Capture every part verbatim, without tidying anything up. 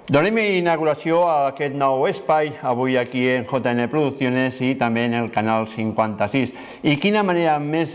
Donem inauguració a aquest nou espai, avui aquí en J N Producciones i també en el canal cinquanta-sis. I quina manera més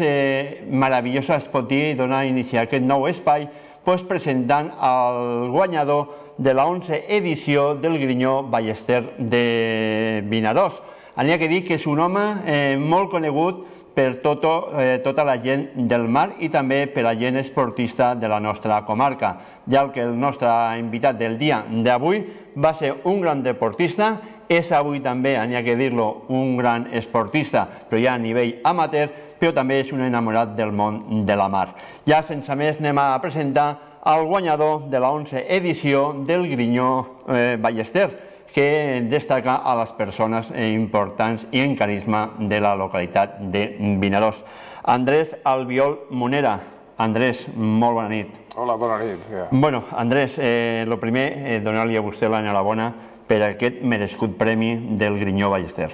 meravellosa es pot dir donar a iniciar aquest nou espai, doncs presentant el guanyador de la onzena edició del Grinyó Ballester de Vinaròs. N'hi ha que dir que és un home molt conegut per tota la gent del mar i també per la gent esportista de la nostra comarca, ja que el nostre invitat del dia d'avui va ser un gran deportista, és avui també, n'hi ha que dir-lo, un gran esportista, però ja a nivell amateur, però també és un enamorat del món de la mar. Ja sense més anem a presentar el guanyador de la onzena edició del Grinyó Ballester, que destaca a les persones importants i en carisma de la localitat de Vinaròs. Andrés Albiol Monera. Andrés, molt bona nit. Hola, bona nit. Bueno, Andrés, el primer, donar-li a vostè l'enhorabona per aquest merescut premi del Grinyó Ballester.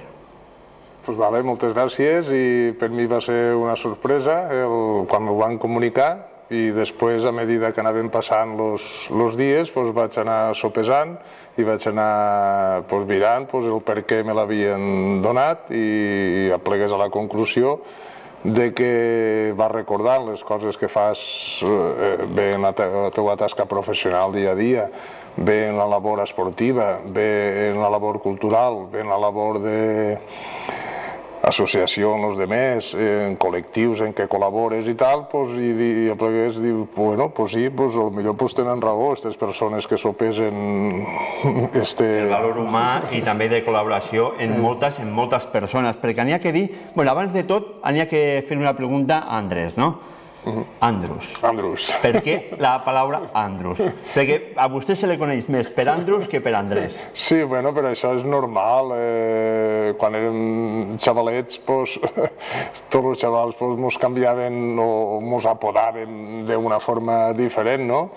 Doncs vale, moltes gràcies, i per mi va ser una sorpresa quan m'ho van comunicar, i després, a mesura que anaven passant els dies, vaig anar sopesant i vaig anar mirant el per què me l'havien donat i aplegués a la conclusió de que vas recordant les coses que fas bé en la teva tasca professional dia a dia, bé en la labor esportiva, bé en la labor cultural, bé en la labor de associació amb els altres, en col·lectius en què col·labores i tal, i aplegués, diu, bueno, doncs sí, potser tenen raó aquestes persones que sopesen el valor humà i també de col·laboració en moltes, en moltes persones, perquè n'hi ha que dir, bueno, abans de tot, n'hi ha que fer una pregunta a Andrés, no? Andrus. Andrus. Per què la paraula Andrus? Perquè a vostè se li coneix més per Andrus que per Andrés. Sí, bueno, però això és normal. Quan érem xavalets, tots els xavals ens canviaven o ens apodaven d'una forma diferent, no?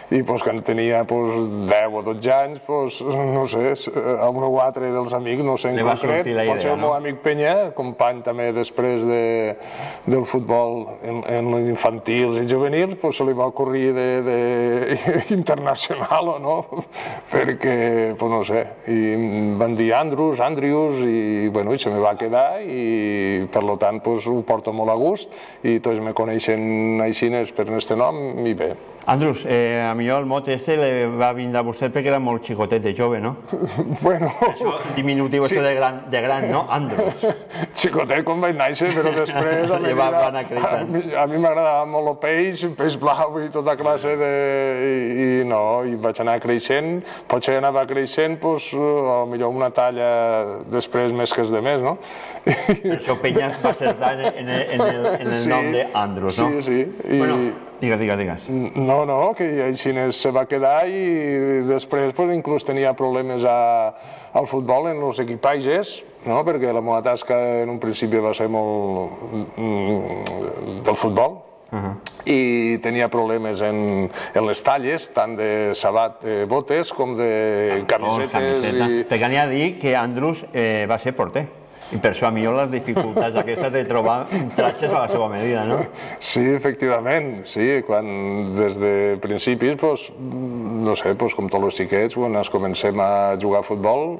I quan tenia deu o dotze anys, no sé, a un o altre dels amics, no sé en concret, potser el meu amic Penya, company també després del futbol en infantils i juvenils, se li va ocorrir d'internacional o no, perquè, no sé, i van dir Andrus, Andrius, i se me va quedar i per tant ho porto molt a gust i tots me coneixen així per aquest nom i bé. Andrus, a millor el mot este li va vindre a vostè perquè era molt xicotet de jove, no? Bueno... Això diminutiu, això de gran, no? Andrus. Xicotet quan vaig néixer, però després a mi m'agradava molt el peix, peix blau i tota classe de... i no, i vaig anar creixent, potser anava creixent, potser una talla després més que els demés, no? Per això Penyas va acertar en el nom d'Andrus, no? Sí, sí. Bueno, digues, digues, digues. No, no, que així se va quedar i després inclús tenia problemes al futbol en els equipatges, perquè la meva tasca en un principi va ser molt del futbol i tenia problemes en les talles, tant de sabat de botes com de camisetes. Perquè n'hi ha a dir que Andrus va ser porter. I per això a millor les dificultats aquestes de trobar tratges a la seva medida, no? Sí, efectivament, sí. Quan des de principis, no sé, com tots els xiquets, quan ens comencem a jugar a futbol,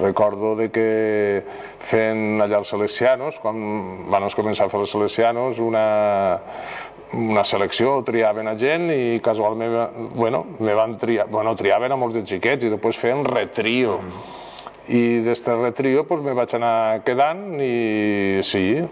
recordo que fent allà els Salesianos, quan van començar a fer els Salesianos, una selecció, triaven a gent i casualment, bueno, me van triar, bueno, triaven a molts de xiquets i després feien retrio. I des del retrio me vaig anar quedant i sí,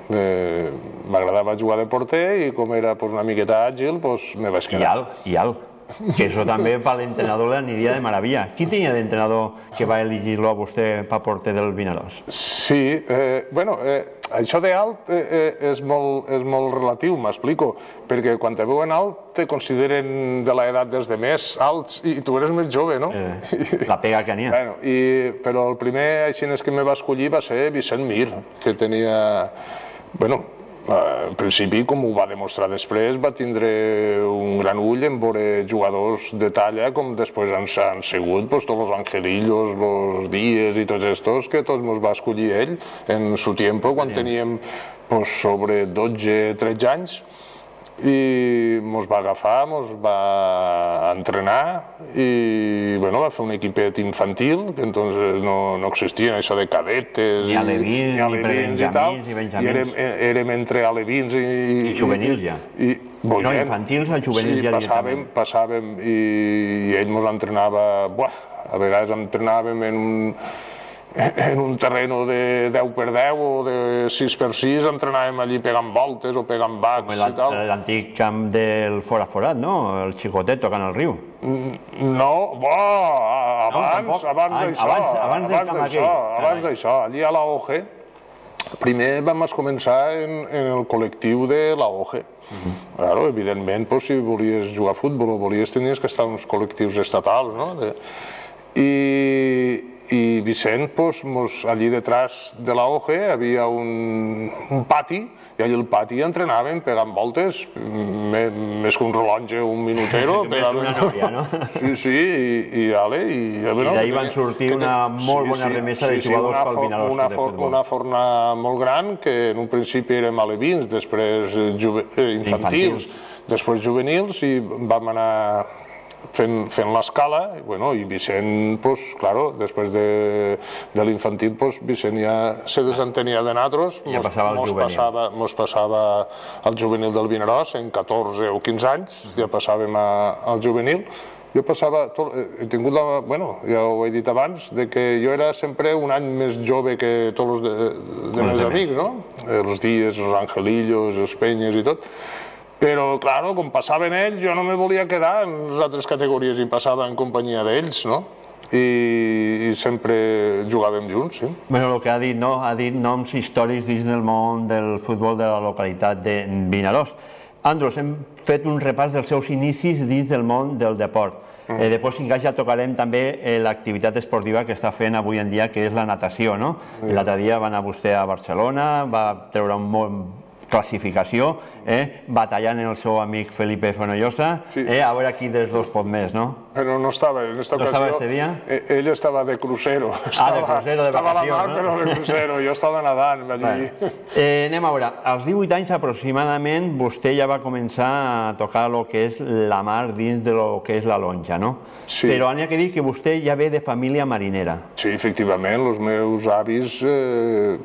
m'agradava jugar de porter i com era una miqueta àgil, me vaig quedar. I alt, i alt. Que això també per l'entrenador l'aniria de meravella. Qui tenia d'entrenador que va elegir-lo a vostè per porter del Vinaròs? Sí, bueno, això d'alt és molt relatiu, m'explico, perquè quan te veuen alt te consideren de l'edat dels demés alts i tu eres més jove, no? La pega que n'hi ha. Però el primer així que me va escollir va ser Vicent Mir, que tenia, bueno, en principi, com ho va demostrar després, va tindre un gran ull en veure jugadors de talla com després han sigut tots els Angelillos, els Díez i tots estos, que tots ens va escollir ell en su tiempo, quan teníem sobre dotze tretze anys. i ens va agafar, ens va entrenar i bueno, va fer un equipet infantil, que entonces no, no existien això de cadetes ni alevins, ni, ni prebenjamins ni benjamins, i érem, érem entre alevins i, i juvenils ja i, no, no, infantils a juvenils sí, ja passàvem, passàvem i, i ell ens entrenava, buah, a vegades entrenàvem en un en un terreno de deu per deu o de sis per sis, entrenàvem allí pegant voltes o pegant bacs i tal. L'antic camp del Fora Forat, no? El xicotet tocant el riu. No, abans, abans d'això, abans d'això, abans d'això, allí a la O G, primer vam començar en el col·lectiu de la O G. Claro, evidentment, si volies jugar a futbol o volies, tenies que estar en uns col·lectius estatals, no? I i Vicent, allí detrás de la O G hi havia un pati i allí al pati entrenàvem pegant voltes, més que un rellotge o un minutero. Més que una nòria, no? Sí, sí, i ale. I d'ahir van sortir una molt bona remesa de jugadors pel Vinaròs de futbol. Una forna molt gran, que en un principi érem alevins, després infantils, després juvenils, i vam anar fent l'escala, i Vicent, després de l'infantil, Vicent ja se desentenia de nosaltres, mos passava al juvenil del Vinaròs, en catorze o quinze anys, ja passàvem al juvenil. Jo passava, he tingut la, bueno, ja ho he dit abans, que jo era sempre un any més jove que tots els meus amics, no? Els Dies, els Angelillos, els Penyes i tot. Però, clar, com passaven ells, jo no me volia quedar en les altres categories i passava en companyia d'ells, no? I sempre jugàvem junts, sí. Bé, el que ha dit, no? Ha dit noms històrics dins del món del futbol de la localitat de Vinaròs. Andros, hem fet un repàs dels seus inicis dins del món del deport. Després, si encara ja tocarem també l'activitat esportiva que està fent avui en dia, que és la natació, no? L'altre dia va anar vostè a Barcelona, va treure un bon classificació, batallant el seu amic Felipe Fonollosa, a veure qui dels dos pot més, no? Però no estava en aquesta ocasió. No estava este dia? Ell estava de crucero. Ah, de crucero, de vacacions, no? Estava a la mar, però de crucero. Jo estava nedant allí. Anem a veure, als divuit anys aproximadament vostè ja va començar a tocar el que és la mar dins del que és la lonja, no? Sí. Però n'hi ha que dir que vostè ja ve de família marinera. Sí, efectivament. Els meus avis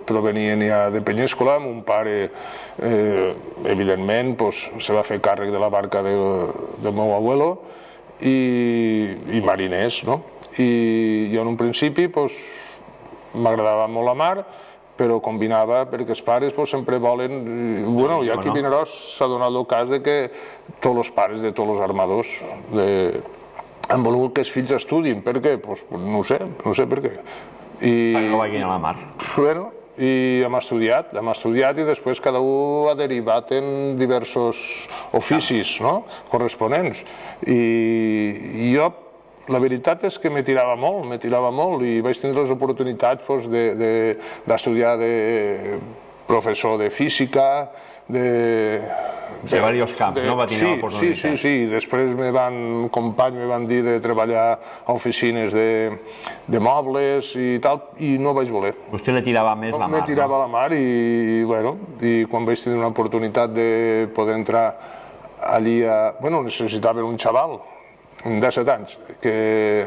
provenien ja de Penyéscola. Mon pare, evidentment, se va fer càrrec de la barca del meu abuelo i mariners, no? I jo en un principi m'agradava molt la mar, però combinava perquè els pares sempre volen... Bueno, i aquí a Vinaròs s'ha donat el cas que tots els pares de tots els armadors han volgut que els fills estudin. Per què? No sé, no sé per què. Perquè no vagin a la mar. Bueno, i hem estudiat, hem estudiat i després cada un ha derivat en diversos oficis corresponents. I jo, la veritat és que me tirava molt, me tirava molt i vaig tenir les oportunitats d'estudiar de professor de física, de... De diversos camps, no? Va tenir l'oportunitat. Sí, sí, sí. Després me companys me van dir de treballar a oficines de mobles i tal, i no vaig voler. Vostè le tirava més la mar, no? Me tirava la mar i, bueno, i quan vaig tenir una oportunitat de poder entrar allí a... Bueno, necessitaven un xaval, de disset anys, que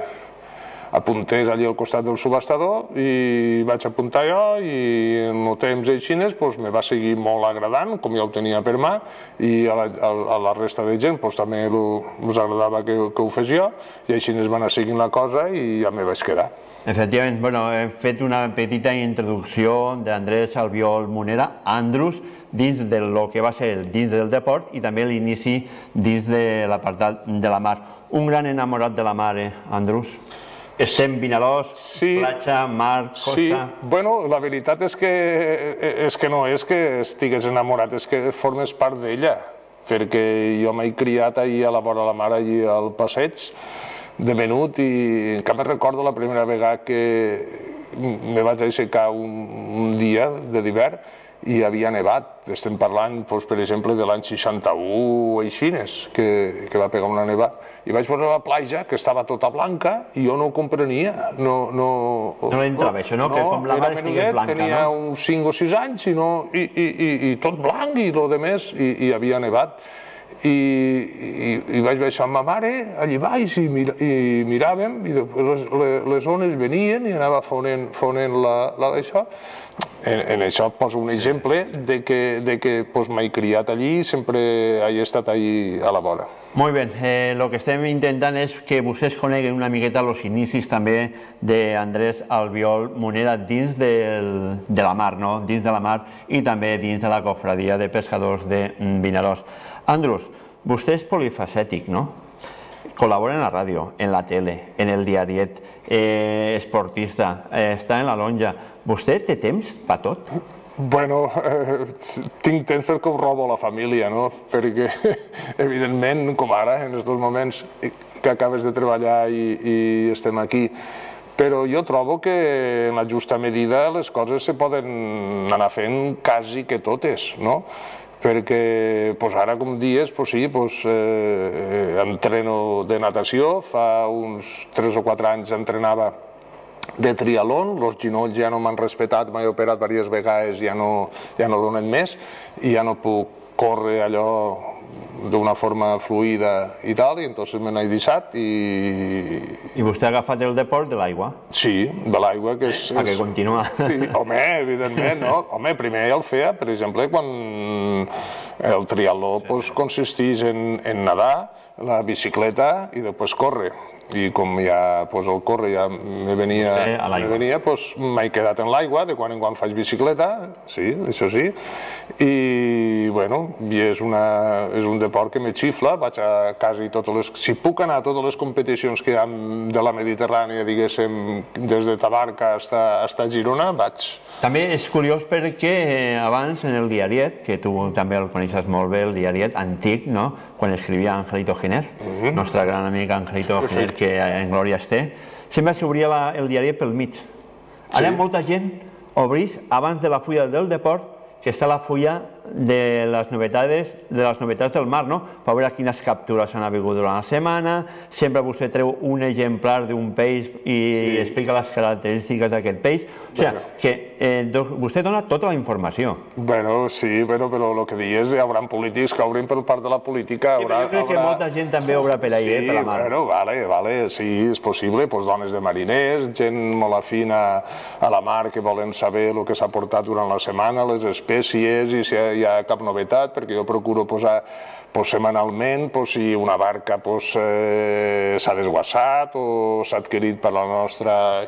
apuntés allí al costat del subhastador i vaig apuntar jo i en el temps així me va seguir molt agradant, com ja ho tenia per mà, i a la resta de gent també us agradava que ho fes jo, i així es va anar seguint la cosa i ja me vaig quedar. Efectivament, he fet una petita introducció d'Andrés Albiol Munera, Andrus, dins del que va ser dins del deport i també l'inici dins de l'apartat de la mar. Un gran enamorat de la mar, eh, Andrus? Estem Vinaròs, platja, mar, costa... Sí, bueno, la veritat és que no és que estigués enamorat, és que formes part d'ella, perquè jo m'he criat allà a la vora de la mar, allà al passeig, de menut, i encara me'n recordo la primera vegada que me vaig aixecar un dia de d'hivern i havia nevat. Estem parlant, per exemple, de l'any seixanta-u o així, que va pegar una nevada. I vaig veure la platja, que estava tota blanca, i jo no ho comprenia. No l'entrava això, no? Que com la mar estigués blanca, no? Tenia uns cinc o sis anys i tot blanc i el de més, i havia nevat. i vaig baixar amb ma mare allà baix i miràvem i les ones venien i anava fonent l'això. En això poso un exemple de que m'he criat allí i sempre he estat allí a la vora. Molt bé, el que estem intentant és que vostès coneguen una miqueta els inicis també d'Andrés Albiol Munera dins de la mar, dins de la mar i també dins de la cofradia de pescadors de Vinaròs. Andrus, vostè és polifacètic, no? Col·labora en la ràdio, en la tele, en el diariet, esportista, està en la lonja. Vostè té temps per tot? Bueno, tinc temps perquè ho robo a la família, no? Perquè, evidentment, com ara, en aquests moments que acabes de treballar i estem aquí, però jo trobo que en la justa medida les coses se poden anar fent quasi que totes, no? Perquè ara, com dies, sí, entreno de natació, fa uns tres o quatre anys entrenava de triatlon, els genolls ja no m'han respetat, m'he operat diverses vegades, ja no donen més, i ja no puc córrer allò d'una forma fluida i tal, i entonces me n'he deixat i... I vostè ha agafat el deport de l'aigua? Sí, de l'aigua, que és... A que continua. Sí, home, evidentment, no? Home, primer el feia, per exemple, quan el triatló consisteix en nedar, la bicicleta i després córrer. I com ja el córrer ja me venia, m'he quedat en l'aigua, de quan en quan faig bicicleta, sí, això sí, i bueno, és un deport que me xifla, vaig a quasi totes les... Si puc anar a totes les competicions que hi ha de la Mediterrània, diguéssim, des de Tabarca fins a Girona, vaig. També és curiós perquè abans en el diariet, que tu també el coneixes molt bé, el diariet antic, no?, quan escrivia Angelito Giner, nostre gran amic Angelito Giner, que en glòria es té, sempre s'obria el diari pel mig. Ara molta gent obrís abans de la fulla del deport, que està la fulla de les novetats del mar, no? Per veure quines captures han hagut durant la setmana, sempre vostè treu un exemplar d'un peix i explica les característiques d'aquest peix. O sigui, que vostè dona tota la informació. Bueno, sí, però el que dius, hi haurà polítics que obrin per part de la política. Jo crec que molta gent també obre per ahí, per la mar. Sí, bueno, vale, vale, sí, és possible, dones de mariners, gent molt afina a la mar que volen saber el que s'ha portat durant la setmana, les espècies, i si hi ha cap novetat, perquè jo procuro posar setmanalment si una barca s'ha desguassat o s'ha adquirit per la nostra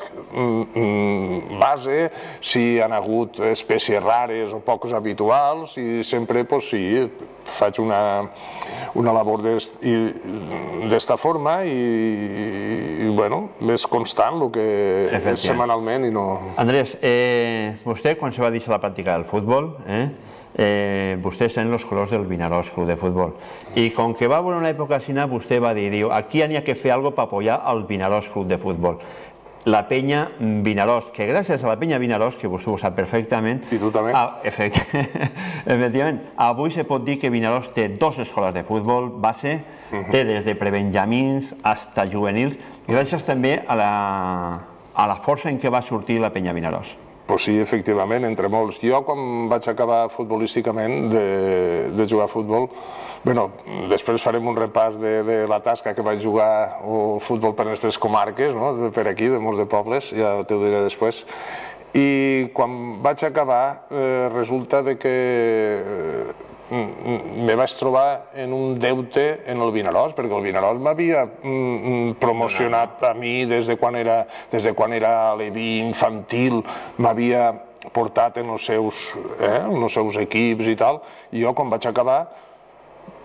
base, si han hagut espècies rares o poques habituals, i sempre faig una labor d'esta forma i més constant el que és setmanalment i no... Andrés, vostè quan se va deixar la pràctica del futbol, vostè està en els colors del Vinaròs Club de Futbol, i com que va haver una època així, vostè va dir, aquí n'hi ha que fer alguna cosa per apoyar el Vinaròs Club de Futbol. La penya Vinaròs, que gràcies a la penya Vinaròs, que vostè ho sap perfectament... I tu també. Efectivament, avui se pot dir que Vinaròs té dues escoles de futbol base, té des de prebenjamins fins a juvenils, gràcies també a la força en què va sortir la penya Vinaròs. Doncs sí, efectivament, entre molts. Jo, quan vaig acabar futbolísticament de jugar a futbol, bé, després farem un repàs de la tasca que vaig jugar al futbol per aquestes comarques, per aquí, de molts de pobles, ja t'ho diré després. I quan vaig acabar, resulta que me vaig trobar en un deute en el Vinaròs, perquè el Vinaròs m'havia promocionat a mi des de quan era aleví infantil, m'havia portat en els seus equips i tal, i jo quan vaig acabar,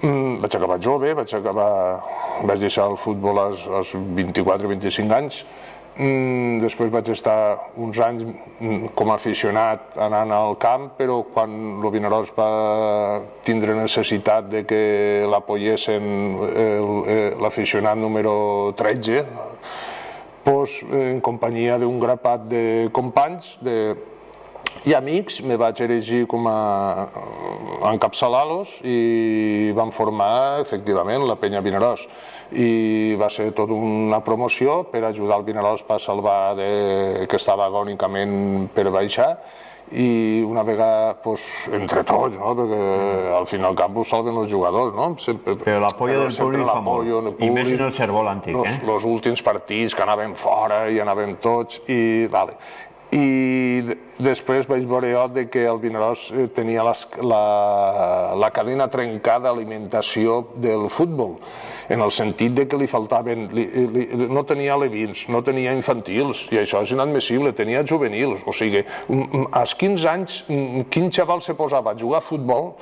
vaig acabar jove, vaig deixar el futbol als vint-i-quatre vint-i-cinc anys, després vaig estar uns anys com a aficionat anant al camp, però quan el Vinaròs va tindre necessitat que l'apoyessin l'aficionat número tretze, en companyia d'un grapat de companys i amics, me vaig erigir com a encapçalar-los i vam formar, efectivament, la penya Vinaròs. I va ser tota una promoció per ajudar el Vinaròs per salvar que estava agònicament per baixar, i una vegada, entre tots, perquè al fin i al cap ho salven els jugadors, no? Però l'apoyo del públic fa molt, i més en el Cervol antic, eh? Els últims partits que anàvem fora i anàvem tots, i vale. I després vaig veure jo que el Vinaròs tenia la cadena trencada d'alimentació del futbol, en el sentit que li faltaven, no tenia alevins, no tenia infantils, i això és inadmissible, tenia juvenils, o sigui, als quinze anys, quin xaval se posava a jugar a futbol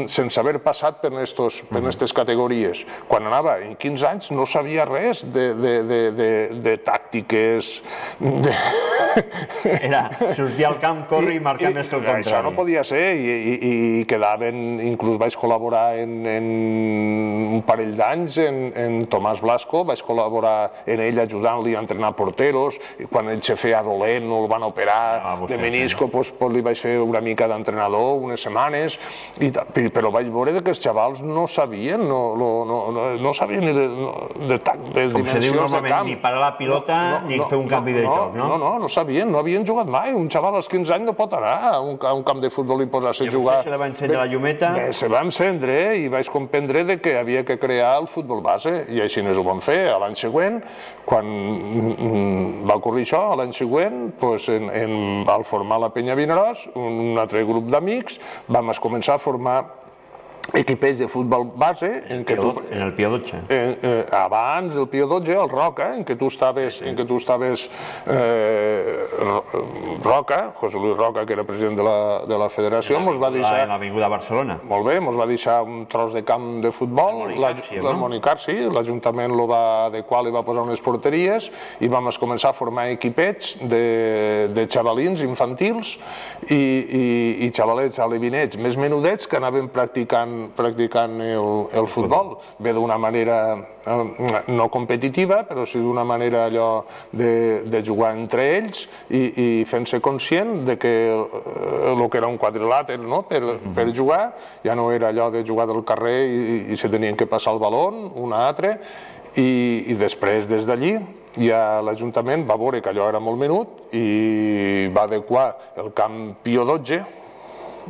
sense haver passat per aquestes categories. Quan anava en quinze anys no sabia res de tàctiques. Era sortir al camp, córrer i marcar més que el contrari. Això no podia ser, i quedaven, inclús vaig col·laborar en un parell d'anys en Tomàs Blasco, vaig col·laborar en ell ajudant-li a entrenar porteros, i quan ell se feia dolent o el van operar de menisco, li vaig fer una mica d'entrenador unes setmanes, però vaig veure que els xavals no sabien, no sabien ni de dimensions de camp. Com se diu normalment, ni parar la pilota ni fer un canvi de joc, no? No, no, no sabien, no havien jugat mai. Un xaval als quinze anys no pot anar a un camp de futbol i posar-se a jugar. I se va encendre la llumeta? Se va encendre i vaig comprendre que havia que crear el futbol base, i així ho vam fer. L'any següent, quan va ocorrir això, l'any següent, al formar la Penya Vinaròs, un altre grup d'amics, vam començar a formar equipets de futbol base en el Pio dotze abans del Pio dotze, el Roca, en què tu estaves Roca, José Luis Roca, que era president de la federació, mos va deixar en l'avinguda Barcelona, molt bé, mos va deixar un tros de camp de futbol, el Monicarsi, l'Ajuntament lo va adequar, li va posar unes porteries i vam començar a formar equipets de xavalins infantils i xavalets alevinets més menudets que anaven practicant practicant el futbol, bé d'una manera no competitiva, però sí d'una manera allò de jugar entre ells i fent-se conscient que el que era un quadrilàter per jugar ja no era allò de jugar del carrer i se tenien que passar el baló un a altre, i després des d'allí ja l'Ajuntament va veure que allò era molt menut i va adequar el camp Pio dotze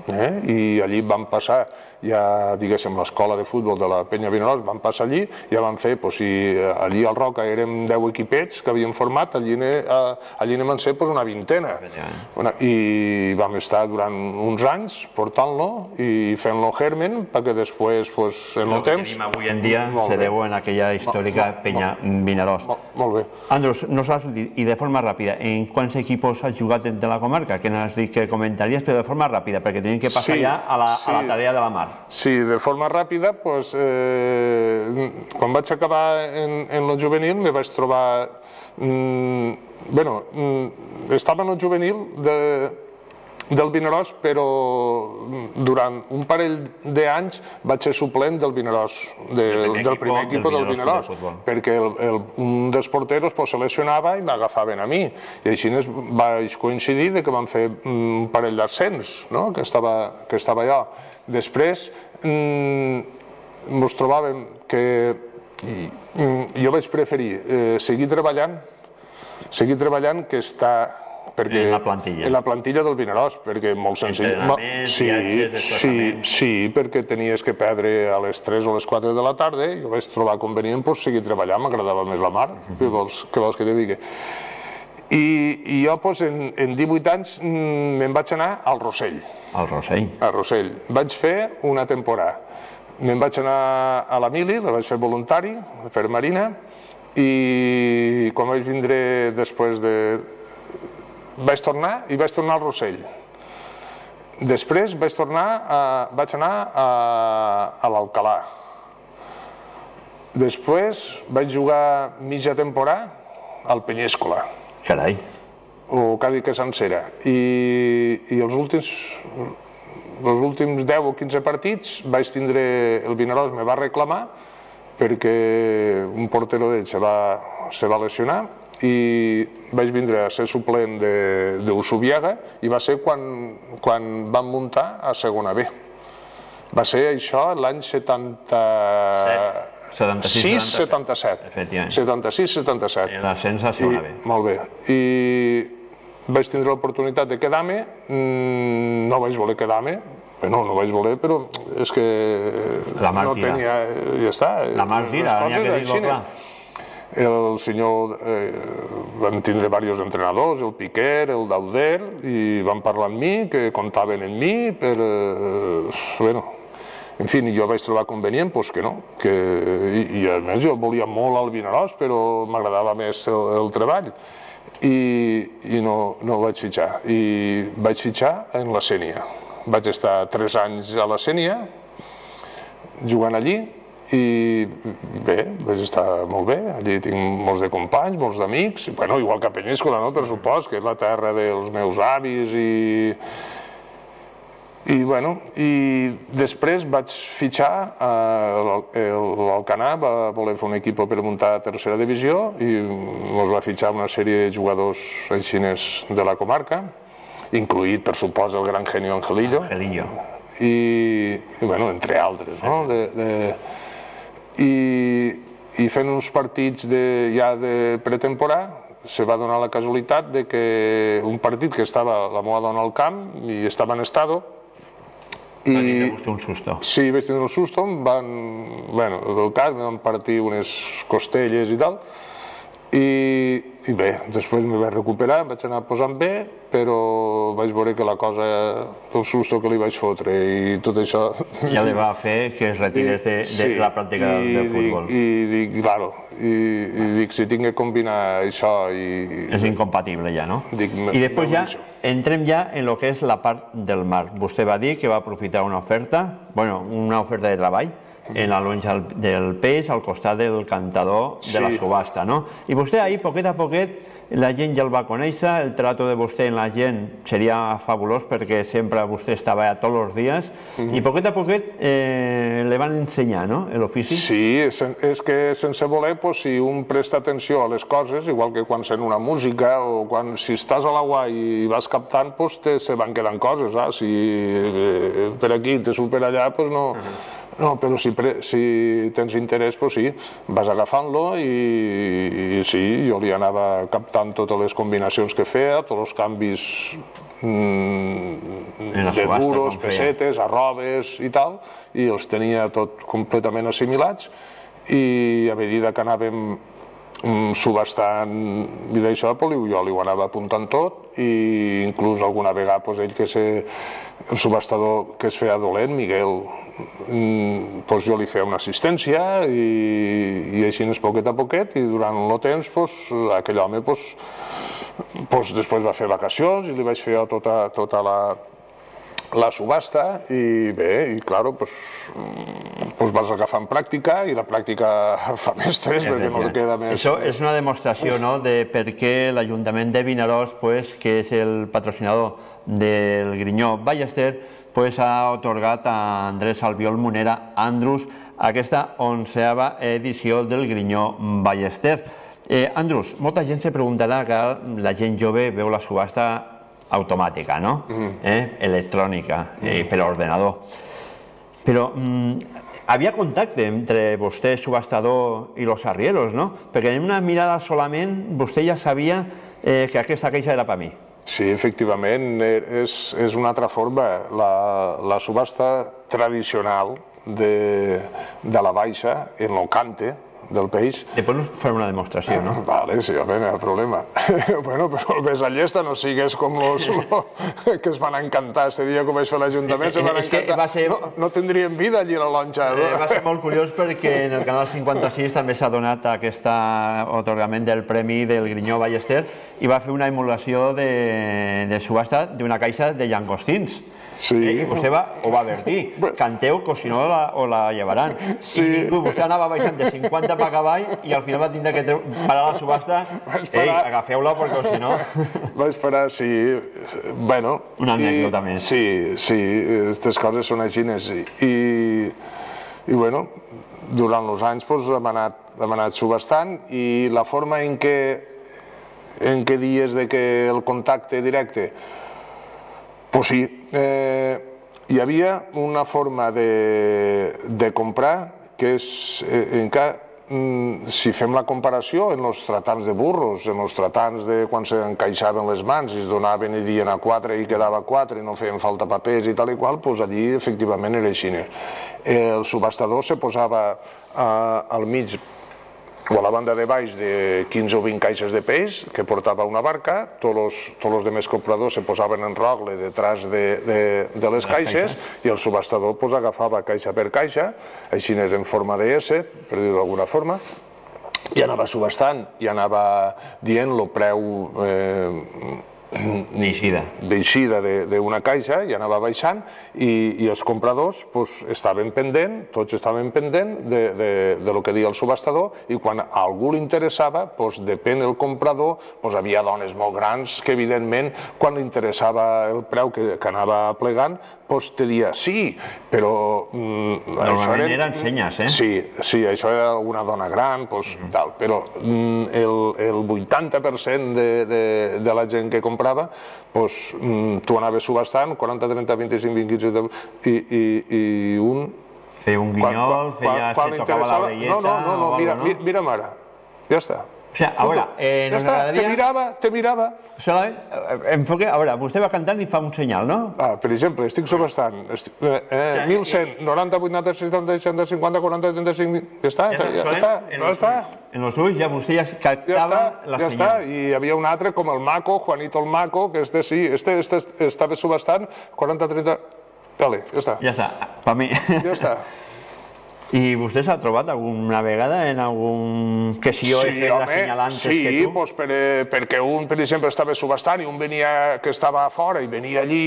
i allí vam passar ja, diguéssim, l'escola de futbol de la Penya Vinaròs, vam passar allí, ja vam fer, si allí al Roca érem deu equipets que havíem format, allí n'hem van ser una vintena. I vam estar durant uns anys portant-lo i fent-lo germen perquè després, en el temps... El que tenim avui en dia se deu en aquella històrica Penya Vinaròs. Molt bé. Andrus, nos has dit, i de forma ràpida, en quants equipos has jugat de la comarca? Que no has dit que comentaries, però de forma ràpida, perquè tenim que passar ja a la tarea de la mar. Sí, de forma ràpida, quan vaig acabar en el juvenil me vaig trobar... Bé, estava en el juvenil del Vinaròs, però durant un parell d'anys vaig ser suplent del Vinaròs, del primer equip del Vinaròs, perquè un dels porteros se lesionava i m'agafaven a mi, i així vaig coincidir que vam fer un parell d'ascens, que estava allò. Després ens trobàvem que jo vaig preferir seguir treballant, seguir treballant que estar en la plantilla. En la plantilla del Vinaròs, perquè molt senzill. Entrenaments, viatges, desplaçaments... Sí, perquè tenies que perdre a les tres o a les quatre de la tarda, jo vaig trobar convenient seguir treballant, m'agradava més la mar, què vols que te digui? I jo, en divuit anys, me'n vaig anar al Rossell. Al Rossell? Al Rossell. Vaig fer una temporada. Me'n vaig anar a la mili, la vaig fer voluntari, per Marina, i quan vaig vindre després de... vaig tornar i vaig tornar al Rossell. Després vaig tornar, vaig anar a l'Alcalà. Després vaig jugar mitja temporada al Penyéscola. Carai. O quasi que sencera. I els últims els últims deu o quinze partits vaig tindre... el Vinaròs me va reclamar perquè un portero d'ell se va lesionar i vaig vindre a ser suplent d'Usubiaga i va ser quan vam muntar a segona B. Va ser això l'any setanta... setanta-sis setanta-set. setanta-sis setanta-set. L'ascens a segona B. Molt bé. I vaig tindre l'oportunitat de quedar-me, no vaig voler quedar-me, no, no vaig voler, però és que no tenia, ja està. La mar tira, n'hi ha que dir-ho clar. El senyor, vam tindre diversos entrenadors, el Piquer, el Dauder, i van parlar amb mi, que comptaven amb mi, per, bueno, en fi, jo vaig trobar convenient, doncs que no, i a més jo volia molt al Vinaròs, però m'agradava més el treball, i no vaig fitxar, i vaig fitxar en la Sénia. Vaig estar tres anys a la Sénia, jugant allí, i bé, vaig estar molt bé, allí tinc molts de companys, molts d'amics, bueno, igual que a Penyíscola, no?, per supòs, que és la terra dels meus avis, i i bueno, i després vaig fitxar, l'Alcanar va voler fer un equip per muntar a tercera divisió i ens va fitxar una sèrie de jugadors aixines de la comarca, incluït, per supòs, el gran genio Angelillo. Angelillo. I, bueno, entre altres, no?, i fent uns partits ja de pretemporada se va donar la casualitat que un partit que estava la meva dona al camp i estava en estado i... Va tindre un susto. Sí, vaig tindre un susto, em van, bueno, del cas, em van partir unes costelles i tal, i bé, després me vaig recuperar, em vaig anar posant bé, però vaig veure que la cosa, el susto que li vaig fotre i tot això... Ja li va fer que es retirés de la pràctica del futbol. I dic, claro, i dic, si tinc que combinar això i... És incompatible ja, no? I després ja entrem ja en el que és la part del mar. Vostè va dir que va aprofitar una oferta, bueno, una oferta de treball, en la lonja del peix, al costat del cantador de la subhasta, no? I vostè ahí, poquet a poquet, la gent ja el va conèixer, el trato de vostè amb la gent seria fabulós perquè sempre vostè estava allà tots els dies i poquet a poquet li van ensenyar, no?, l'ofici. Sí, és que sense voler, si un presta atenció a les coses, igual que quan sent una música o quan si estàs a l'aigua i vas captant, se van quedant coses, si per aquí te surt per allà, doncs no... No, però si tens interès, doncs sí, vas agafant-lo i sí, jo li anava captant totes les combinacions que feia, tots els canvis de duros, pessetes, arrobes i tal, i els tenia tot completament assimilats i a mesura que anàvem subhastant i d'això, jo li ho anava apuntant tot i inclús alguna vegada ell que és el subhastador que es feia dolent, Miguel, jo li feia una assistència i així és poquet a poquet i durant el temps aquell home després va fer vacacions i li vaig fer tota la subhasta i bé, i clar, vas agafant pràctica i la pràctica fa mestres perquè no queda més... Això és una demostració de per què l'Ajuntament de Vinaròs, que és el patrocinador del Grinyó Ballester, ha atorgat a Andrés Albiol Munera Andrus aquesta onceava edició del Grinyó Ballester. Andrus, molta gent se preguntarà que la gent jove veu la subhasta automàtica, no? Electrònica, per ordenador. Però havia contacte entre vostè, subhastador, i los arrieros, no? Perquè en una mirada solament vostè ja sabia que aquesta queixa era per mi. Sí, efectivament, és una altra forma. La subhasta tradicional de la baixa, en el cante del peix... Després farem una demostració, no? Vale, sí, home, no hi ha problema. Bueno, però el ves a llesta no sigues com los que es van encantar este dia que vaig fer a l'Ajuntament, se van encantar. No tindrien vida allí a la lonxa. Va ser molt curiós perquè en el canal cinquanta-sis també s'ha donat aquest atorgament del Premi del Grinyó Ballester i va fer una emulació de subhasta d'una caixa de llangostins. I vostè ho va advertir, canteu que si no la llevaran. I vostè anava baixant de cinquanta per cavall i al final va tindre que parar la subhasta. Ei, agafeu-la perquè si no... Va esperar, sí. Bueno... Una anècdota més. Sí, sí, aquestes coses són així. I bueno, durant els anys hem anat subhastant i la forma en què dies que el contacte directe... Doncs sí, hi havia una forma de comprar que és, si fem la comparació en els tratants de burros, en els tratants de quan s'encaixaven les mans i es donaven i dien a quatre i quedava quatre i no feien falta papers i tal i qual, doncs allí efectivament era així. El subhastador se posava al mig o a la banda de baix de quinze o vint caixes de peix que portava una barca, tots els demés compradors se posaven en rogle detrás de les caixes i el subhastador agafava caixa per caixa, així és en forma de S, per dir-ho d'alguna forma, i anava subhastant i anava dient el preu d'eixida d'una caixa i anava baixant i els compradors estaven pendent, tots estaven pendent del que deia el subhastador i quan a algú li interessava, depèn del comprador, havia dones molt grans que evidentment quan li interessava el preu que anava plegant te dia sí, però... Normalment eren senyes, eh? Sí, sí, això era alguna dona gran, però el vuitanta per cent de la gent que comprava, tu anaves subhastant, quaranta, trenta, vint-i-cinc, vint, quinze, i un... Feia un guinyol, feia... se tocava la orelleta... No, no, no, mira'm ara, ja està. O sigui, a veure, nos agradaria... Te mirava, te mirava. Enfoque, a veure, vostè va cantant i fa un senyal, no? Per exemple, estic subhastant mil cent, noranta, vuitanta, seixanta, seixanta, cinquanta, quaranta, trenta-cinc... Ja està, ja està. En els ulls ja vostè ja captava la senyal. Ja està, i hi havia un altre com el Maco, Juanito el Maco, que este sí, este estava subhastant quaranta, trenta... Vale, ja està. Ja està, per mi. Ja està. I vostè s'ha trobat alguna vegada en algun... que si jo he fet la senyal antes que tu? Sí, perquè un, per exemple, estava subhastant i un venia que estava a fora i venia allí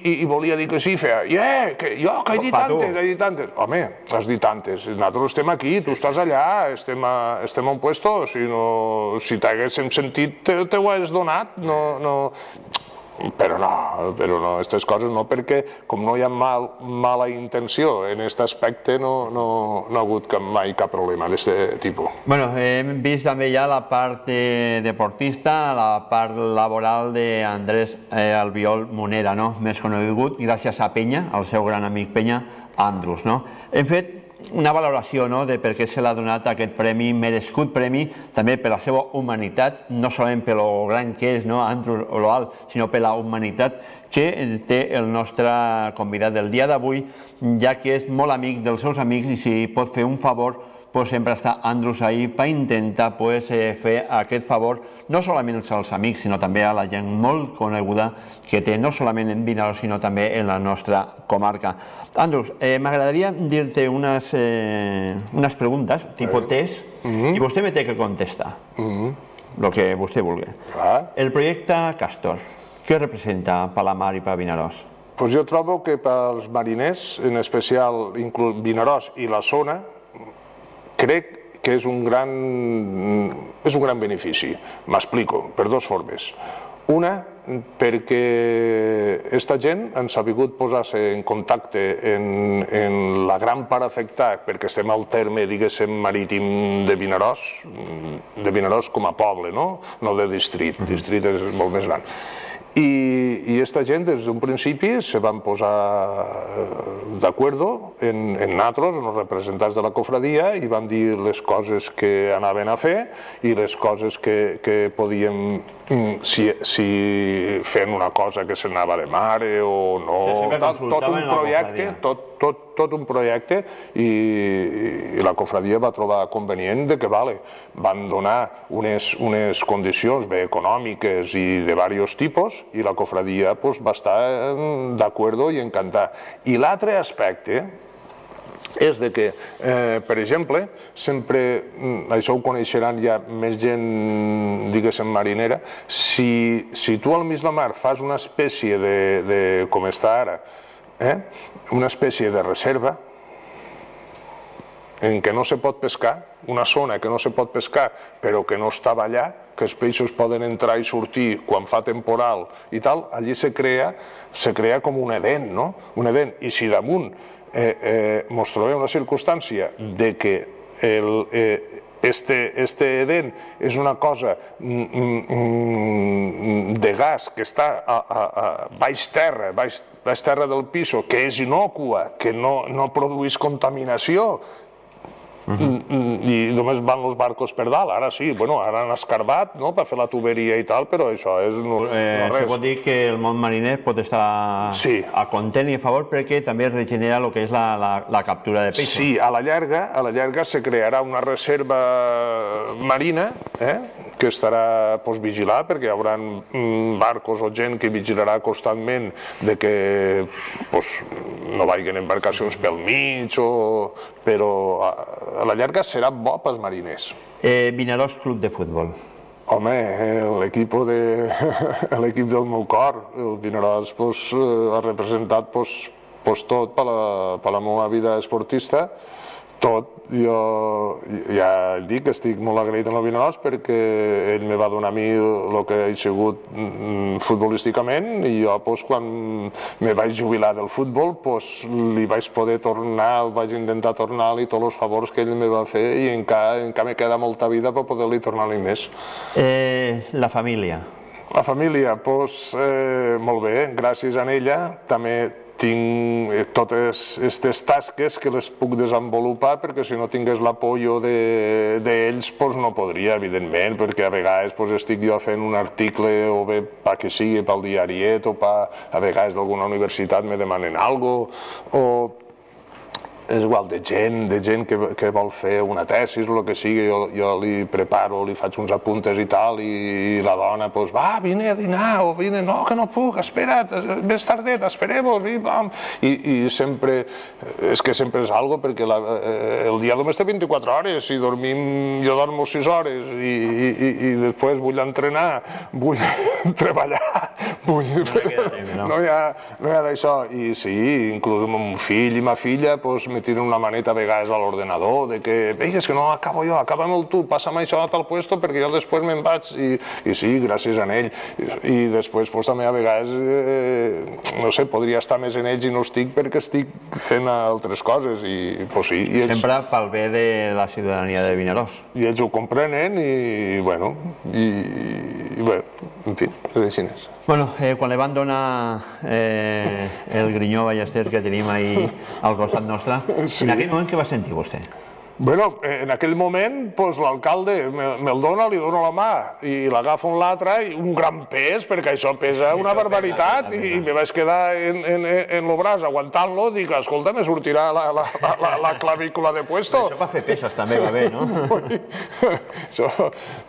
i volia dir que sí, feia «Eh, que jo, que he dit tantes, he dit tantes». Home, has dit tantes. Nosaltres estem aquí, tu estàs allà, estem a un puesto, si t'haguéssim sentit te ho has donat, no... Però no, però no, aquestes coses no, perquè com no hi ha mala intenció en aquest aspecte no ha hagut mai cap problema d'aquest tipus. Bueno, hem vist també ja la part deportista, la part laboral d'Andrés Albiol Monera, més conegut gràcies a Penya, al seu gran amic Penya, Andrus. Hem fet una valoració de per què se l'ha donat aquest premi, merescut premi, també per la seva humanitat, no solament per lo gran que és Andrus Oloal, sinó per la humanitat que té el nostre convidat del dia d'avui, ja que és molt amic dels seus amics i si pot fer un favor, sempre està Andrus ahí per intentar fer aquest favor no solament als amics, sinó també a la gent molt coneguda que té no solament en Vinaròs, sinó també en la nostra comarca. Andrus, m'agradaria dir-te unes preguntes, tipus test, i vostè me té que contestar, el que vostè vulgui. El projecte Castor, què representa per la mar i per Vinaròs? Jo trobo que pels mariners, en especial Vinaròs i la zona, crec que és un gran benefici. M'explico, per dues formes. Una, perquè aquesta gent han sabut posar-se en contacte en la gran part afectada, perquè estem al terme, diguéssim, marítim de Vinaròs, de Vinaròs com a poble, no de distrit, el distrit és molt més gran. I aquesta gent des d'un principi se van posar d'acord en nosaltres, en els representants de la cofradia, i van dir les coses que anaven a fer i les coses que podíem, si fent una cosa que s'anava de mare o no, tot un projecte, tot un projecte, i la cofradia va trobar convenient que van donar unes condicions econòmiques i de diversos tipus, i la cofradia va estar d'acord i encantada. I l'altre aspecte és que, per exemple, sempre, això ho coneixeran ja més gent, diguéssim, marinera, si tu al mig de la mar fas una espècie de, com està ara, una espècie de reserva en què no se pot pescar, una zona que no se pot pescar però que no estava allà, que els peixos poden entrar i sortir quan fa temporal i tal, allí se crea com un edén, no? Un edén. I si damunt ens trobem la circumstància que este edén és una cosa de gas que està a baix terra, baix terra del piso, que és innòcua, que no produeix contaminació, i només van els barcos per dalt. Ara sí, bueno, ara han escarbat per fer la tuberia i tal, però això és no res. Se pot dir que el món mariner pot estar a content i a favor perquè també regenera el que és la captura de peixos. Sí, a la llarga, a la llarga se crearà una reserva marina que estarà vigilat perquè hi haurà barcos o gent que vigilarà constantment que no vagin embarcacions pel mig, però a la llarga serà bo pels mariners. Vinaròs Club de Futbol. Home, l'equip del meu cor, el Vinaròs ha representat tot per la meva vida esportista. Tot, jo ja dic que estic molt agraït amb el Vinaròs perquè ell me va donar a mi el que he sigut futbolísticament i jo quan me vaig jubilar del futbol li vaig poder tornar, vaig intentar tornar-li tots els favors que ell me va fer i encara me queda molta vida per poder-li tornar-li més. La família? La família, doncs molt bé, gràcies a ella també tinc totes aquestes tasques que les puc desenvolupar perquè si no tingués l'apoyo d'ells no podria, evidentment, perquè a vegades estic jo fent un article o bé que sigui pel diariet o a vegades d'alguna universitat me demanen alguna cosa o és igual, de gent, de gent que vol fer una tesi o el que sigui, jo li preparo, li faig uns apuntes i tal, i la dona, doncs, va, vine a dinar, o vine, no, que no puc, espera't, més tardet, esperem-vos, i sempre, és que sempre és algo, perquè el dia només té vint-i-quatre hores, i dormim, jo dormo sis hores, i després vull entrenar, vull treballar, vull... No hi ha d'això, i sí, inclús amb un fill i ma filla, doncs, me tiren una maneta a vegades a l'ordenador, de que, ei, és que no acabo jo, acaba'm tu, passa'm això a tal puesto perquè jo després me'n vaig, i sí, gràcies a ell. I després també a vegades, no sé, podria estar més en ells i no estic perquè estic fent altres coses, i sí. Sempre pel bé de la ciutadania de Vinaròs. I ells ho comprenen i, bueno, i, bé, en fi, és així. Bueno, quan li van donar el Grinyó Ballester que tenim ahí al costat nostre, en aquell moment què va sentir vostè? Bueno, en aquell moment, l'alcalde me'l dona, li dona la mà i l'agafa un l'altre i un gran pes, perquè això pesa una barbaritat i me vaig quedar en el braç aguantant-lo, dic, escolta, me sortirà la clavícula de puesto. Això per fer peses també va bé, no?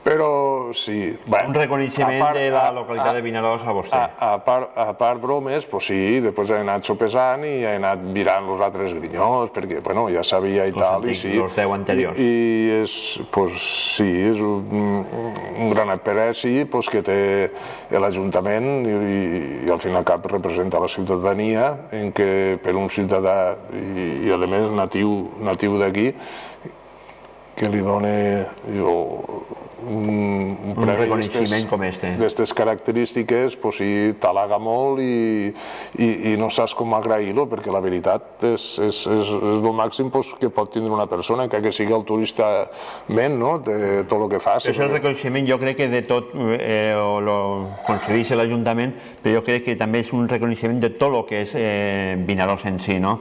Però sí. Un reconeixement de la localitat de Vinaròs a vostè. A part bromes, doncs sí, després he anat sopesant i he anat virant els altres grinyós, perquè, bueno, ja sabia i tal, i sí. deu anteriors. I és, sí, és un gran apreci que té l'Ajuntament i al fin i al cap representa la ciutadania en què per un ciutadà i a més natiu d'aquí que li dona un reconeixement com este. D'aquestes característiques, sí, t'halaga molt i no saps com agrair-lo, perquè la veritat és el màxim que pot tindre una persona, que sigui altruistament, de tot el que fas. És el reconeixement, jo crec que de tot, o lo concedeix l'Ajuntament, però jo crec que també és un reconeixement de tot el que és Vinaròs en si, no?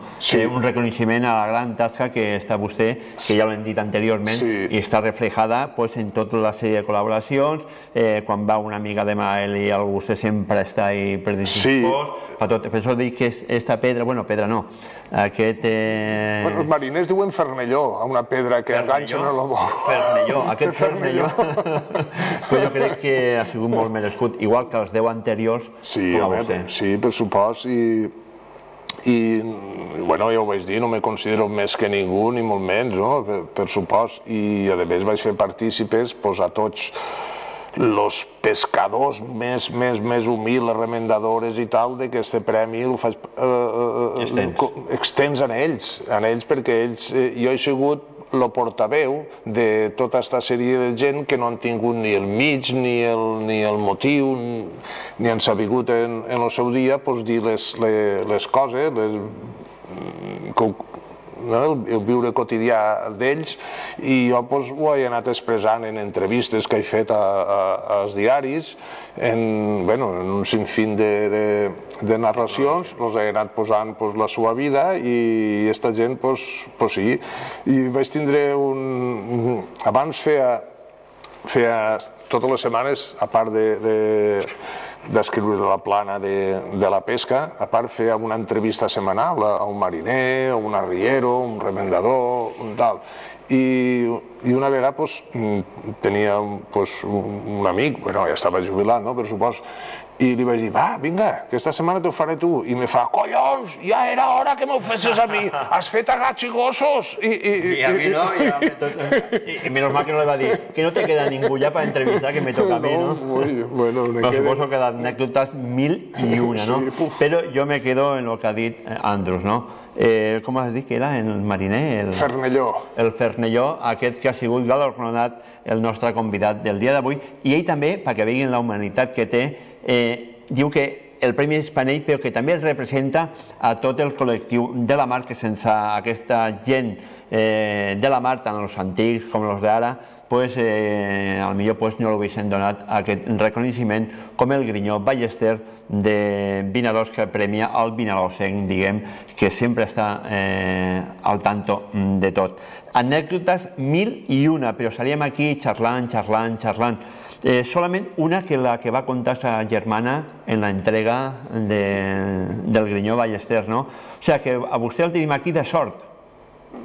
Un reconeixement a la gran tasca que està vostè, que ja l'hem dit anteriorment, i està reflejada en tota la sèrie de col·laboracions, quan va una amiga de Mael i vostè sempre està ahí predispost, per això dic que aquesta pedra, bueno, pedra no, aquest... Els mariners diuen fernelló, a una pedra que enganxa en el bou. Fernelló, aquest fernelló. Però jo crec que ha sigut molt merescut, igual que els deu anteriors, com a vostè. Sí, per supost, i... I, bueno, ja ho vaig dir, no me considero més que ningú, ni molt menys, no?, per supost. I, a més, vaig fer partícipes a tots els pescadors més, més, més humils, les remendadores i tal, d'aquest premi el faig... extens en ells, en ells, perquè ells... Jo he sigut el portaveu de tota aquesta sèrie de gent que no han tingut ni el mig, ni el motiu, ni han sabut en el seu dia dir les coses, el viure quotidià d'ells, i jo ho he anat expressant en entrevistes que he fet als diaris, en un sinfín de narracions, els he anat posant la seva vida, i aquesta gent, doncs sí. I vaig tindre un... Abans feia totes les setmanes, a part d'escriure la plana de la pesca, a part fèiem una entrevista setmanal a un mariner, a un arriero, un remendador, un tal. I una vegada tenia un amic, ja estava jubilat, per supòs, i li vaig dir, va, vinga, aquesta setmana t'ho faré tu. I me fa, collons, ja era hora que m'ho fessis a mi, has fet a gats i gossos. I a mi no, i menys mal que no li va dir, que no te queda ningú ja per entrevistar, que me toca a mi, no? Bueno, no suposo que d'anècdotes mil i una, no? Però jo me quedo en el que ha dit Andrus, no? Com has dit que era el mariner? El Fernelló. El Fernelló, aquest que ha sigut galardonat el nostre convidat del dia d'avui, i ell també, perquè veguin la humanitat que té, diu que el Premi Espanell, però que també representa a tot el col·lectiu de la mar, que sense aquesta gent de la mar, tant els antics com els d'ara, potser no l'haguessin donat aquest reconeixement com el Grinyó Ballester de Vinaròs, que premia el vinaròsenc, diguem, que sempre està al tanto de tot. Anècdotes mil i una, però estaríem aquí xerrant, xerrant, xerrant. Solament una, que la que va contar sa germana en la entrega del Grinyó Ballester, no? O sigui que a vostè el tenim aquí de sort.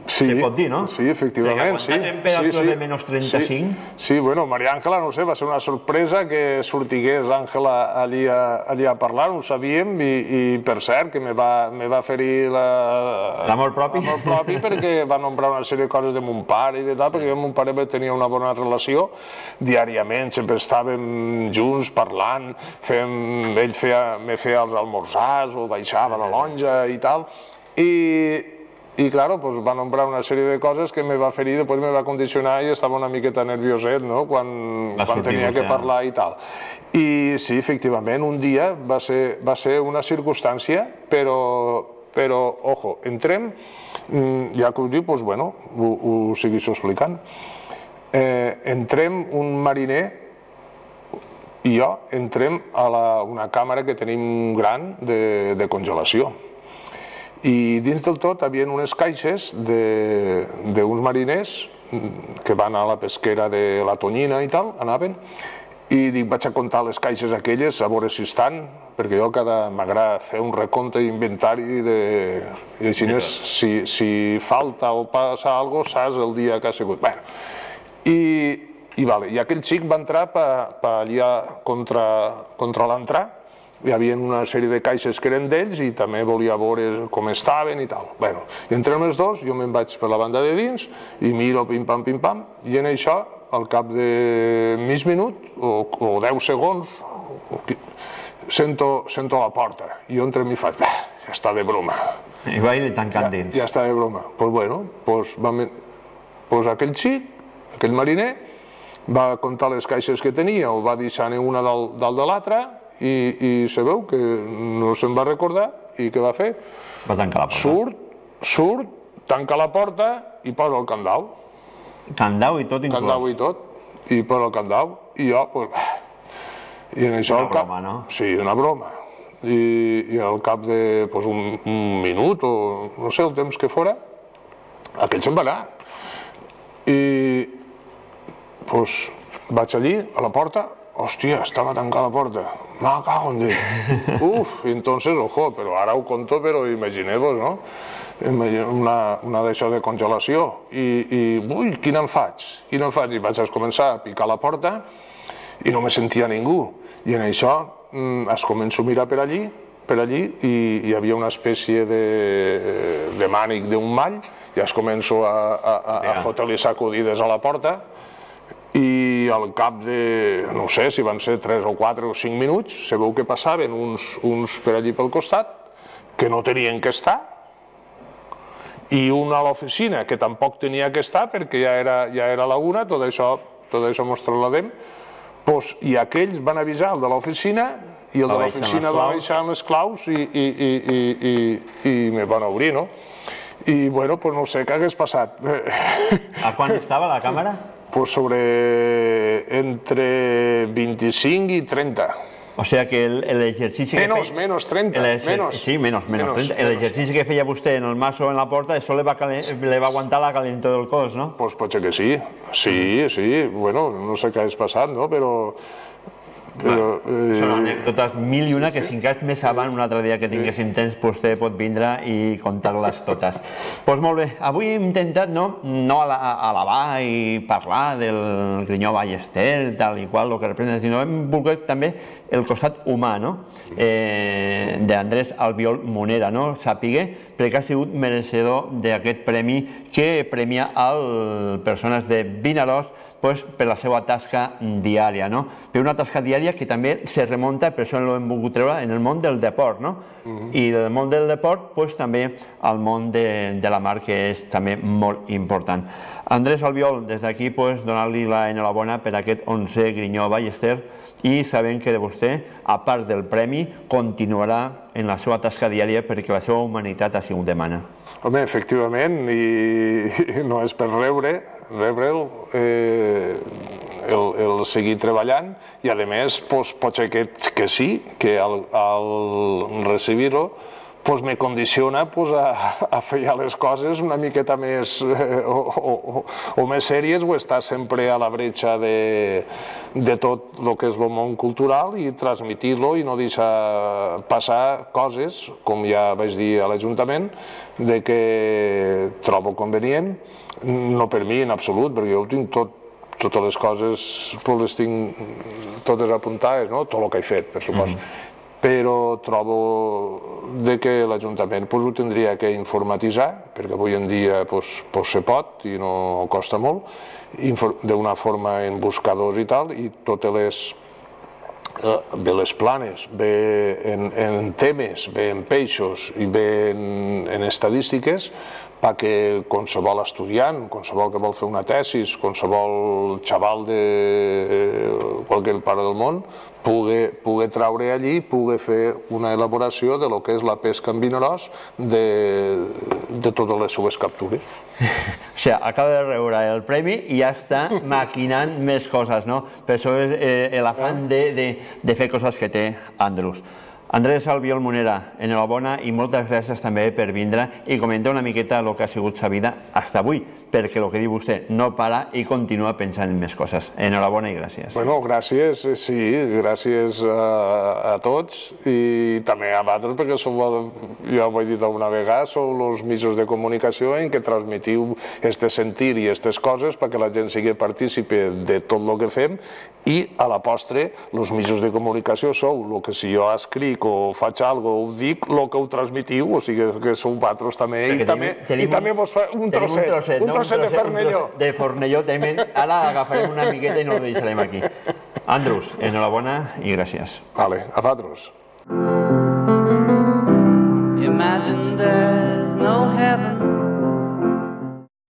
Sí, pot dir, no? Sí, efectivament, sí. Perquè aguantar temperatures de menys trenta-cinc... Sí, bueno, Maria Àngela, no sé, va ser una sorpresa que sortigués Àngela allí a parlar, no ho sabíem, i per cert, que me va ferir l'amor propi, l'amor propi, perquè va nombrar una sèrie de coses de mon pare i de tal, perquè mon pare tenia una bona relació, diàriament, sempre estàvem junts parlant, ell me feia els almorzars, o baixava a la lonja i tal, i... I, clar, va nombrar una sèrie de coses que me va ferir, després me va condicionar i estava una miqueta nervioset, no?, quan tenia que parlar i tal. I sí, efectivament, un dia va ser una circumstància, però, ojo, entrem, ja que ho diu, doncs, bueno, ho segueixo explicant. Entrem un mariner i jo, entrem a una càmera que tenim gran de congelació. I dins del tot hi havia unes caixes d'uns mariners que van a la pesquera de la Tonyina i tal, anaven, i dic, vaig a comptar les caixes aquelles, a veure si estan, perquè jo m'agrada fer un recompte d'inventari i així, si falta o passa alguna cosa, saps el dia que ha sigut. I aquell xic va entrar allà contra l'entrar. Hi havia una sèrie de caixes que eren d'ells i també volia veure com estaven i tal. Bé, i entrem els dos, jo me'n vaig per la banda de dins i miro pim-pam, pim-pam, i en això, al cap de mig minut o deu segons, sento la porta. I jo entrem i faig, bé, ja està de broma. I va ir tancant dins. Ja està de broma. Doncs bueno, doncs aquell xic, aquell mariner, va comptar les caixes que tenia, o va deixar una dalt de l'altra, i sabeu que no se'n va recordar, i què va fer? Va tancar la porta. Surt, surt, tanca la porta i posa el candau. Candau i tot inclòs. Candau i tot, i posa el candau, i jo, doncs, i en això... Una broma, no? Sí, una broma. I al cap d'un minut, o no sé, el temps que fora, aquell se'n va anar. I, doncs, vaig allí, a la porta, hòstia, estava tancada la porta. Me cago en Déu. Uf, entonces, ojo, però ara ho conto, però imagineu-vos, no? Una d'això de congelació. I, ui, quina en faig? Quina en faig? I vaig començar a picar la porta i no me sentia ningú. I en això es començo a mirar per allí, per allí, i hi havia una espècie de mànic d'un mall, i es començo a fotre-li sacudides a la porta, i al cap de, no sé si van ser tres o quatre o cinc minuts, sabeu que passaven uns per allí pel costat, que no tenien que estar, i un a l'oficina que tampoc tenia que estar perquè ja era la una, tot això mos trasladem, i aquells van avisar el de l'oficina, i el de l'oficina va baixar amb les claus i me van obrir, no? I, bueno, pues no sé què hagués passat. A quan estava la càmera? Pues sobre entre vint-i-cinc i trenta. O sigui que l'exercici que Menos, menos, trenta, menos. Sí, menos, menos, trenta. L'exercici que feia vostè en el maso en la porta, això le va aguantar la calentor del cos, no? Pues pot ser que sí, sí, sí, bueno, no sé què hagués passat, no?, però... Són anècdotes mil i una que si encara més avant, un altre dia que tinguéssim temps, vostè pot vindre i contar-les totes. Doncs molt bé, avui hem intentat no alabar i parlar del Grinyó Ballester, tal i qual, el que representa, sinó hem volgut també el costat humà d'Andrés Albiol Munera, sàpiga, perquè ha sigut mereixedor d'aquest premi que premia a persones de Vinaròs per la seva tasca diària, per una tasca diària que també se remunta, per això l'hem volgut treure, en el món del deport, i del món del deport també al món de la mar, que és també molt important. Andrés Albiol, des d'aquí donar-li l'enhorabona per aquest onzè Grinyó Ballester i sabent que de vostè, a part del premi, continuarà en la seva tasca diària perquè la seva humanitat ha sigut demana. Home, efectivament, i no és per rebre, rebre'l, el seguir treballant i, a més, pot ser que sí, que al recibir-ho me condiciona a fer ja les coses una miqueta més o més sèries o estar sempre a la bretxa de tot el que és el món cultural i transmitir-lo i no deixar passar coses, com ja vaig dir a l'Ajuntament, que trobo convenient, no per mi en absolut, perquè jo tinc tot, totes les coses les tinc totes apuntades, tot el que he fet, per supost. Però trobo que l'Ajuntament ho tindria que informatitzar, perquè avui en dia se pot i no costa molt, d'una forma en buscadors i tal, i totes les bé les planes, bé en temes, bé en peixos i bé en estadístiques, perquè qualsevol estudiant, qualsevol que vol fer una tesis, qualsevol xaval de qualsevol part del món, pugui treure allí, pugui fer una elaboració de lo que és la pesca en Vinaròs de totes les seves captures. O sigui, acaba de rebre el premi i ja està maquinant més coses, no? Per això és l'afany de fer coses que té Andrus. Andrés Albiol Munera, enhorabona i moltes gràcies també per vindre i comentar una miqueta el que ha sigut sa vida fins avui, perquè el que diu vostè no para i continua pensant en més coses. Enhorabona i gràcies. Bueno, gràcies, sí, gràcies a tots i també a vosaltres, perquè ja ho he dit alguna vegada, sou els mitjans de comunicació en què transmitiu este sentir i aquestes coses perquè la gent sigui partícipe de tot el que fem i a la postre, els mitjans de comunicació sou el que si jo escric o faig alguna cosa, ho dic, el que ho transmitiu, o sigui que sou vosaltres també, i també vos fa un trosset, un trosset de Fornelló. De Fornelló, ara agafarem una miqueta i no ho deixarem aquí. Andrus, enhorabona i gràcies. Vale, a vosaltres. Imagine there